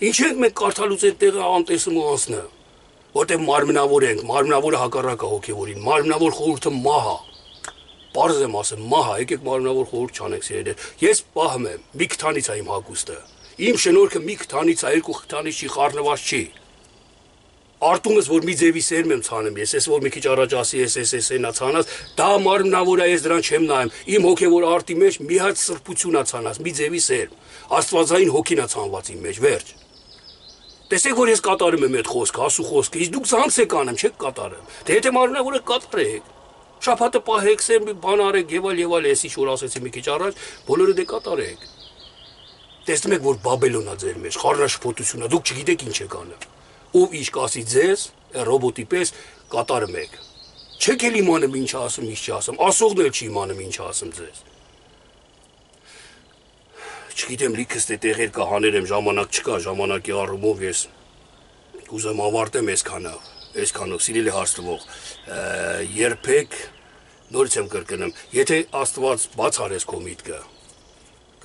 Ինչ ենք մենք կարդալուց այդ տեղը անտեսում ու անցնում, որտեղ մարմնավոր ենք, մարմնավորը հակառակ է հոգևորին, մարմնավոր խորհուրդը մահ է։ Պարզ եմ ասում, մահ է, եկեք մարմնավոր խորհուրդ չանենք սիրելիներ։ Ես պահում եմ, մի քթանից է իմ հագուստը։ Իմ շնորհքը մի քթանից է, երկու քթանից չի, խառնված չի։ Արտումս որ մի ձևի սերմ եմ ցանում ես, ես որ մի քիչ առաջ ասի ես ես ես այնա ցանած, դա մարմնավոր է, ես դրան չեմ նայում։ Իմ հոգևոր արտի մեջ մի հատ սրբություն է ցանած, մի ձևի սերմ։ Աստվածային հոգին է ցանված իմ մեջ, վերջ։ Տեսեք որ ես կատարում եմ այդ խոսքը, ասու խոսքը, իսկ դուք ցանց եք անում, չեք կատարում։ Դե եթե մարմնավորը կատարեք, շաբաթը պահեք, սերմ բան արեք, եւ այլ եւ այլ, էսի շուր ասեցի մի քիչ առաջ, բոլորը դե կատարեք։ Տեսնում եք որ Բաբելոնն է ձեր մեջ, խառնաշփոթությունը, դուք չգիտեք ինչ եք անում։ Ով ինչ կասի ձեզ, ռոբոտի պես կատարում եք։ Չեք էլ իմանում ինչ ասում, ինչ չասում, ասողն էլ չի իմանում ինչ ասում ձեզ։ Չգիտեմ լիքս դե տեղեր կա հաներեմ, ժամանակ չկա, ժամանակի առումով ես ուզեմ ավարտեմ այսքանով, այսքանով սիրելի հարցնող, երբեք նորից եմ կրկնում, եթե Աստված բաց արեց քո միտքը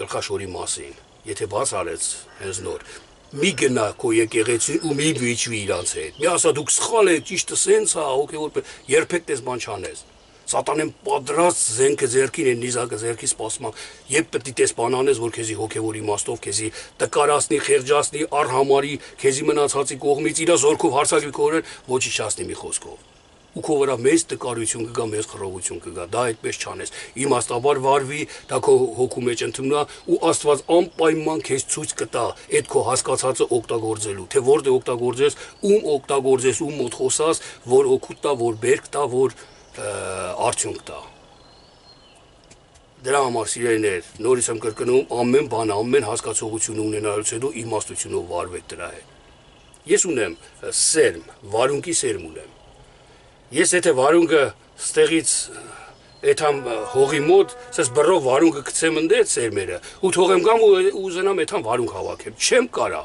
գլխաշորի մասին, եթե բաց արեց հենց նոր մի գնա քո եկեղեցին ու մի վիճվի իրանց հետ։ Մի ասա դուք սխալ եք, ճիշտը սենց է, հոգևոր երբեք դες բան չանես։ Սատանեն պատրաստ զենքը ձեռքին են, նիզակը ձեռքի սպասում, երբ պետք է դες բան անես, որ քեզի հոգևոր իմաստով քեզի տկարացնի, խեղճացնի, առհամարի, քեզի մնացածի կողմից իր զորքով հարցակվի քորեն, ոչինչ չասնի մի խոսքով։ Ու քո վրա մեծ տկարություն կգա, մեծ խռովություն կգա, դա այդպես չանես։ Իմաստաբար վարվի, դա քո հոգու մեջ ընդունա ու Աստված անպայման քեզ ցույց կտա այդ քո հասկացածը օգտագործելու, թե որտեղ օգտագործես, ում օգտագործես, ում մոտ խոսաս, որ օգուտ տա, որ բերք տա, որ արդյունք տա։ Դրա համար սիրելիներ, նորից եմ կրկնում, ամեն բան, ամեն հասկացողություն ունենալուց հետո իմաստությունով վարվեք դրա հետ։ Ես ունեմ սերմ, վարունքի սերմ ունեմ։ Ես եթե վարունգը ստեղից Էթամ հողի մոտ, սես բռով վարունգը գցեմ ընդեր սերմերը, ու թողեմ գամ ու ուզենամ էթամ վարունգ հավաքեմ, չեմ կարա,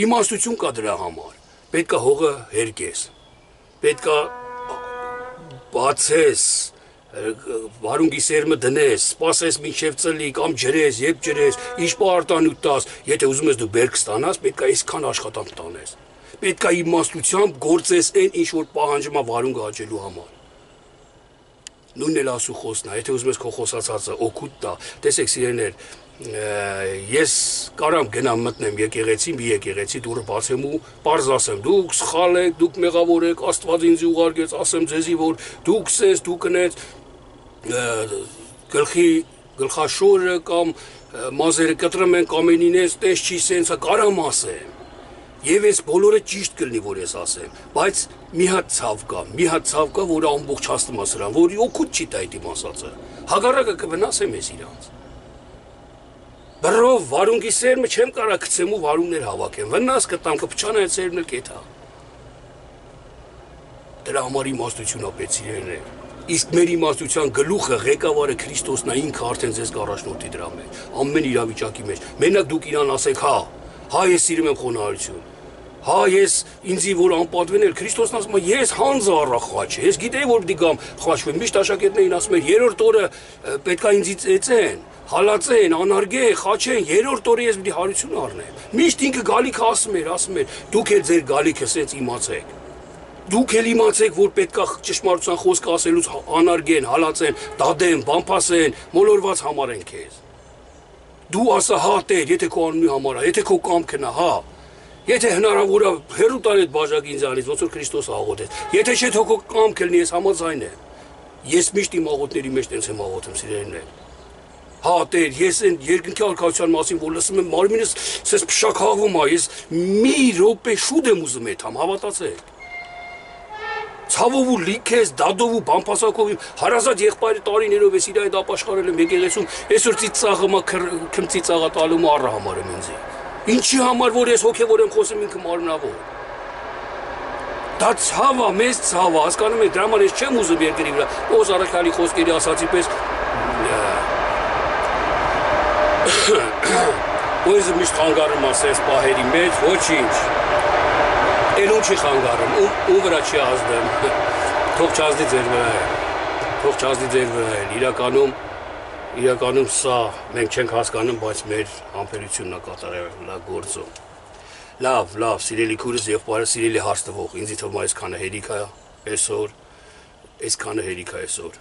իմաստություն կա դրա համար, պետք է հողը հերկես, պետք է բացես, վարունգի սերմը դնես, սպասես մինչև ծլի, կամ ջրես, երբ ջրես, ինչ պարտանուտ տաս, եթե ուզում ես դու բերք ստանաս, պետք է այսքան աշխատանք տանես, պետք է իմաստությամբ գործես այն ինչ որ պահանջում է վարունգը հաճելու համար։ Նույնն էլ ասու խոսնա, եթե ուզում ես քո խոսացածը օգուտ տա, տեսեք սիրելիներ, ես կարամ գնամ մտնեմ եկեղեցի, մի եկեղեցի դուրը բացեմ ու պարզ ասեմ, դուք սխալ եք, դուք մեղավոր եք, Աստված ինձ ուղարկեց, ասեմ ձեզի, որ դուք սես, դուք կնեց գլխի գլխաշորը կամ մազերը կտրում են կամենինես, տես չի սենցա, կարամ ասեմ։ Եվ ես բոլորը ճիշտ կլինի, որ ես ասեմ, բայց մի հատ ցավ կա, մի հատ ցավ կա, որը ամբողջացնում է սրան, որի օգուտ չի տա այդ իմ ասածը։ Հագարակը կվնասեմ ես իրանց։ Բռով վարունգի սերմը չեմ կարա գցեմ ու վարունգներ հավաքեմ, վնաս կտամ, կփչան այդ սերմն էլ կեթա։ Դրա համար իմաստություն ապեց իրեն։ Իսկ մեր իմաստության գլուխը ղեկավարը Քրիստոսն է, ինքը արդեն ձեզ կառաջնորդի դրա մեջ, ամեն իրավիճակի մեջ։ Մենակ դուք իրան ասեք, հա, հա ես սիրում եմ խոնարհություն։ Հա ես ինձի որ անպատվեն էլ Քրիստոսն ասում է ես հանձը առա խաչը, ես գիտեի որ պիտի գամ խաչվեմ, միշտ աշակերտներին ասում էր երրորդ օրը պետք է ինձից էծեն, հալածեն, անարգեն, խաչեն, երրորդ օրը ես պիտի հարություն առնեմ։ Միշտ ինքը գալիքը ասում էր, ասում էր դուք էլ ձեր գալիքը սենց իմացեք։ Դուք էլ իմացեք որ պետք է ճշմարտության խոսքը ասելուց անարգեն, հալածեն, դադեն, բամփասեն, մոլորված համարեն քեզ։ Դու ասա հա Տեր, եթե քո անունի համար է, եթե քո կամքն է, հա։ Եթե հնարավոր է հերու տալ այդ բաժակի ինձանից, ոնց որ Քրիստոս աղոթեց։ Եթե չէ թող քո կամքը լինի, ես համաձայն եմ։ Ես միշտ իմ աղոթների մեջ տենց եմ աղոթում, սիրելիներ։ Հա Տեր, ես այն երկնքի արքայության մասին որ լսում եմ, մարմինս սես փշակաղվում է, ես մի րոպե շուտ եմ ուզում էթամ, հավատացեք։ Ցավով ու լիքես, դադով ու բամփասակով իմ հարազատ եղբայրը տարիներով ես իր այդ ապաշխարել եմ եկեղեցում, այսօր ծիծաղը քմծի ծաղա տալու առը համար եմ ինձ։ Ինչի համար որ ես հոգևոր եմ խոսում ինքը մարմնավոր։ Դա ցավ է, մեծ ցավ է, հասկանում եք, դրա համար ես չեմ ուզում երկրի վրա, Պողոս առաքյալի խոսքերի ասացի պես Ոյզը միշտ խանգարում ասես պահերի մեջ, ոչինչ։ Էլում չի խանգարում, ու վրա չի ազդեմ, թող չազդի ձեր վրա է, թող չազդի ձեր վրա է, իրականում, իրականում սա մենք չենք հասկանում, բայց մեր համբերությունն է կատարել գործում։ Լավ, լավ, սիրելի քուրս եւ բարը սիրելի հարց տվող, ինձ թվում է այսքանը հերիք է այսօր, այսքանը հերիք է այսօր։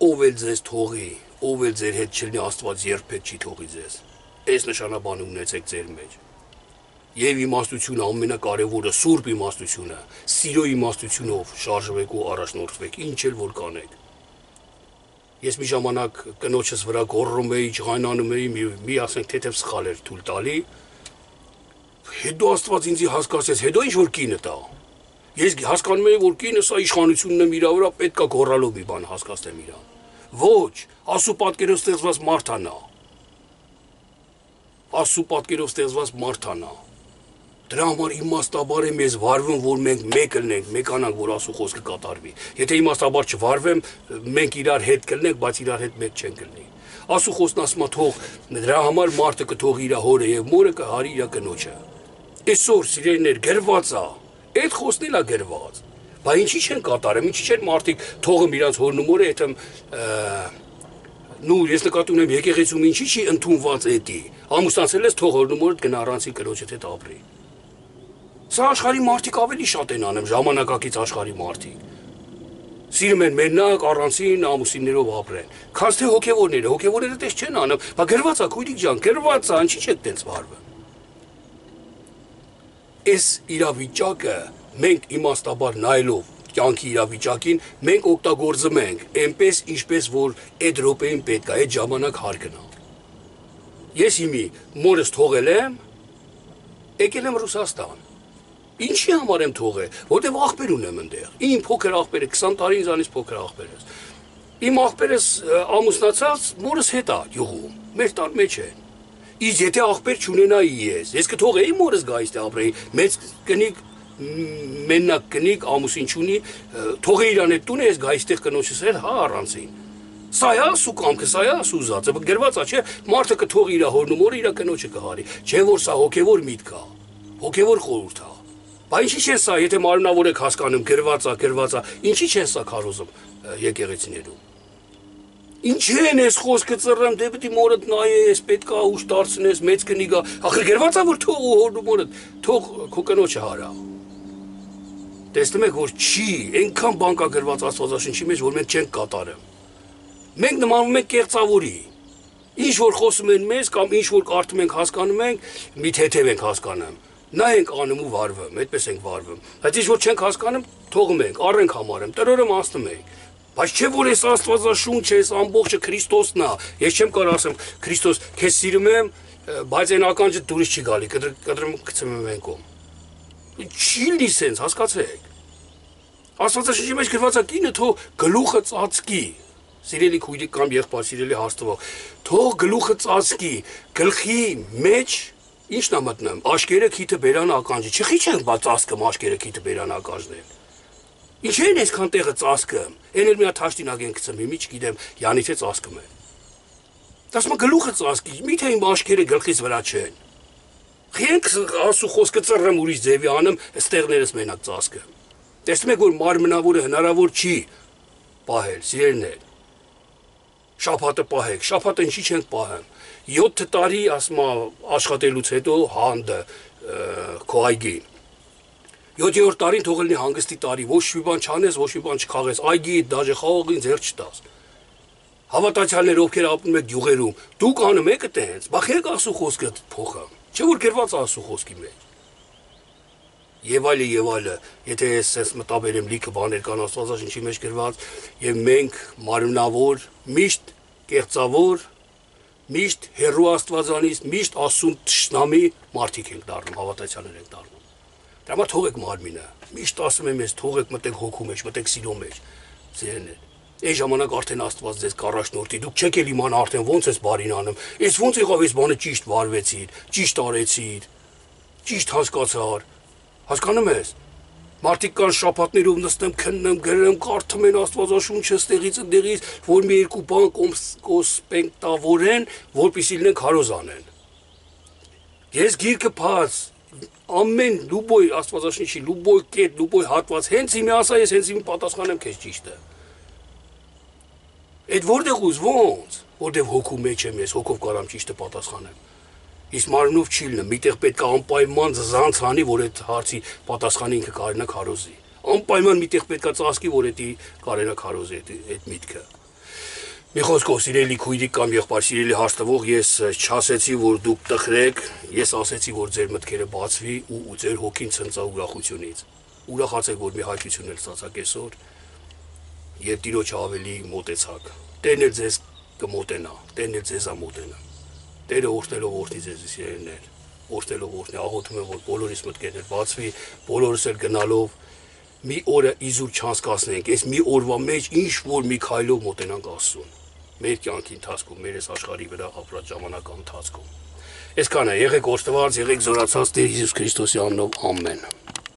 Ով էլ ձեզ թողի, ով էլ ձեր հետ չլինի, Աստված երբեք չի թողի ձեզ։ Այս նշանաբանը ունեցեք ձեր մեջ։ Եվ իմաստությունը ամենակարևորը սուրբ իմաստությունը, սիրո իմաստությունով շարժվեք ու առաջնորդվեք, ինչ էլ որ կանեք։ Ես մի ժամանակ կնոջս վրա գոռում էի, ջղայնանում էի, մի, մի ասենք թեթև սխալ էր թույլ տալի։ Հետո Աստված ինձ հասկացեց, հետո ինչ որ կինը տա։ Ես հասկանում էի, որ կինը սա իշխանությունն է իր վրա, պետք է գոռալով մի բան հասկացնեմ իրան։ Ոչ, Աստծո պատկերով ստեղծված մարդան է։ Աստծո պատկերով ստեղծված մարդան է։ Դրա համար իմաստաբար եմ ես վարվում, որ մենք մեկ լինենք, մեկանանք, որ Աստծո խոսքը կատարվի։ Եթե իմաստաբար չվարվեմ, մենք իրար հետ կլինենք, բայց իրար հետ մեկ չենք լինի։ Աստծո խոսքն ասում է թող դրա համար մարդը կթողի իր հորը եւ մորը կհարի իր կնոջը։ Այսօր սիրելիներ գրված է, այդ խոսքն էլ է գրված։ Բայց ինչի չեն կատարում, ինչի չեն մարդիկ թողում իրանց հորն ու մորը, այդմ նու ես նկատի ունեմ եկեղեցում ինչի չի ընդունված էդի։ Ամուսնացել ես թող հորն ու մորդ գնա առանցին կնոջդ հետ ապրի։ Սա աշխարհի մարդիկ ավելի շատ են անում, ժամանակակից աշխարհի մարդիկ։ Սիրում են մենակ առանցին ամուսիններով ապրեն։ Քանց թե հոգևորները, հոգևորները դες չեն անում, բա գրված է քույրիկ ջան, գրված է, ինչի՞ չեք տենց վարվում։ Այս իրավիճակը մենք իմաստաբար նայելով կյանքի իրավիճակին մենք օգտագործում ենք, այնպես ինչպես որ այդ րոպեին պետք է, այդ ժամանակ հարկն է։ Ես հիմի մորս թողել եմ, եկել եմ Ռուսաստան։ Ինչի համար եմ թողել, որտեղ աղբեր ունեմ այնտեղ։ Իմ փոքր աղբերը քսան տարի ինձանից փոքր աղբեր է։ Իմ աղբերս ամուսնացած մորս հետ է յուղում, մեր տան մեջ է։ Իսկ եթե աղբեր չունենայի ես, ես կթողեի մորս գա այստեղ ապրեի, մեծ կնիկ մենակ կնիկ ամուսին չունի, թողե իրան այդ տունը ես գա այստեղ կնոջս էլ, հա առանցին։ Սա է ասու կամքը, սա է ասու ուզածը, գրված է, չէ, մարդը կթողի իր հորն ու մորը իր կնոջը կհարի, չէ որ սա հոգևոր միտք է, հոգևոր խորհուրդ է։ Բա ինչի՞ չեն սա, եթե մարմնավոր եք հասկանում, գրված է, գրված է, ինչի՞ չեն սա քարոզում եկեղեցիներում։ Ինչ են ես խոսքը ծռեմ, դե պետք է մորդ նայես, պետք է ուշ դարձնես, մեծ կնի գա, ախր գրված է որ թող ու հորն ու մորդ, թող քո կնոջը հարա։ Տեսնում եք որ չի, այնքան բան կա գրված Աստվածաշնչի մեջ, որ մենք չենք կատարում։ Մենք նմանում ենք կեղծավորի։ Ինչ որ խոսում են մեզ կամ ինչ որ կարդում ենք, հասկանում ենք, մի թեթև ենք հասկանում։ Նա ենք անում ու վարվում, այդպես ենք վարվում։ Բայց ինչ որ չենք հասկանում, թողում ենք, առենք համարում, տրորը մասնում ենք։ Բայց չէ որ այս Աստվածաշունչ է, այս ամբողջը Քրիստոսն է։ Ես չեմ կարող ասեմ Քրիստոս, քեզ սիրում եմ, բայց այն ականջը դուրս չի գալի, կտրում գցում եմ այն կողմ։ Չի լի սենց, հասկացեք։ Աստվածաշնչի մեջ գրված է կինը թող գլուխը ծածկի։ Սիրելի քույրիկ կամ եղբայր, սիրելի հաստվող, թող գլուխը ծածկի, գլխի մեջ ինչն է մտնում, աշկերը քիթը բերան ականջի, չխի չենք բա ծածկում աշկերը քիթը բերան ականջներ։ Ինչ են այսքան տեղը ծածկում, այն էլ մի հատ հաշտինակ են գցում, մի չգիտեմ, յանից է ծածկում են։ Դասում գլուխը ծածկի, միթե իմ աշկերը գլխից վրա չեն։ Խենք ասու խոսքը ծռեմ ուրիշ ձևի անում, ստեղներս մենակ ծածկում։ Տեսնում եք որ մարմնավորը հնարավոր չի պահել, սիրելիներ։ Շաբաթը պահեք, շաբաթը ինչի չենք պահում։ յոթ տարի ասма աշխատելուց հետո հանդը քո այգին։ յոթերորդ տարին թող լինի հանգստի տարի, ոչ մի բան չանես, ոչ մի բան չխաղես, այգի դաժե խաղողին ձեր չտաս։ Հավատացյալներ ովքեր ապրում եք գյուղերում, դուք անում եք այդպես, բախեք ասու խոսքը փոխը։ Չէ որ գրված ասու խոսքի մեջ։ Եվ այլը եւ այլը, եթե ես ես մտաբերեմ լիքը բաներ կան Աստվածաշնչի մեջ գրված, եւ մենք մարմնավոր, միշտ կեղծավոր, միշտ հերո Աստվածանից, միշտ ասում ճշնամի մարդիկ ենք դառնում, հավատացյալներ ենք դառնում։ Դրա համար թողեք մարմինը, միշտ ասում եմ ես, թողեք մտեք հոգու մեջ, մտեք սիրո մեջ, ձերներ։ Այն ժամանակ արդեն Աստված ձեզ կառաջնորդի, դուք չեք էլ իմանա արդեն ոնց էս բարին անում, այս ոնց եղավ այս բանը ճիշտ վարվեցիր, ճիշտ արեցիր, ճիշտ հասկացար, հասկանում ես։ Մարդիկ կան շաբաթներով նստեմ, քննեմ, գրեմ, կարդում են Աստվածաշունչը ստեղից ընդեղից, որ մի երկու բան կոսպեկտավորեն, որպեսզի լինեն քարոզ անեն։ Ես գիրքը փած ամեն լուբոյ Աստվածաշունչի լուբոյ կետ, լուբոյ հատված, հենց իմի ասա, ես հենց իմի պատասխանեմ քեզ ճիշտը։ Այդ որտեղ ուզ ոնց, որտեղ հոգու մեջ եմ ես, հոգով կարամ ճիշտը պատասխանեմ։ Իսկ մարմնով չի լինում, միտեղ պետք է անպայման զանց անի, որ այդ հարցի պատասխանը ինքը կարենա քարոզի։ Անպայման միտեղ պետք է ծածկի, որ դա կարենա քարոզի այդ միտքը։ Մի խոսքով, սիրելի քույրիկ կամ եղբայր, սիրելի հաշտվող, ես չասեցի, որ դուք տխրեք, ես ասեցի, որ ձեր մտքերը բացվի ու ձեր հոգին ցնծա ուրախությունից։ Ուրախացեք, որ մի հայտնություն էլ ստացաք այսօր եւ Տիրոջը ավելի մոտեցաք։ Տերն էլ ձեզ կմոտենա, Տերն էլ ձեզ ամոտենա։ Տերը օրհնելով օրհնի ձեզ սիրելիներ, օրհնելով օրհնի, աղոթում եմ որ բոլորիս մտքերն բացվի, բոլորս էլ գնալով մի օրը իզուր չանցկացնենք, այս մի օրվա մեջ ինչ որ մի քայլով մոտենանք Աստծուն։ Մեր կյանքի ընթացքում, մեր այս աշխարհի վրա ապրած ժամանակա ընթացքում։ Այսքանը, եղեք օրհնված, եղեք զորացած Տեր Հիսուս Քրիստոսի անունով, ամեն։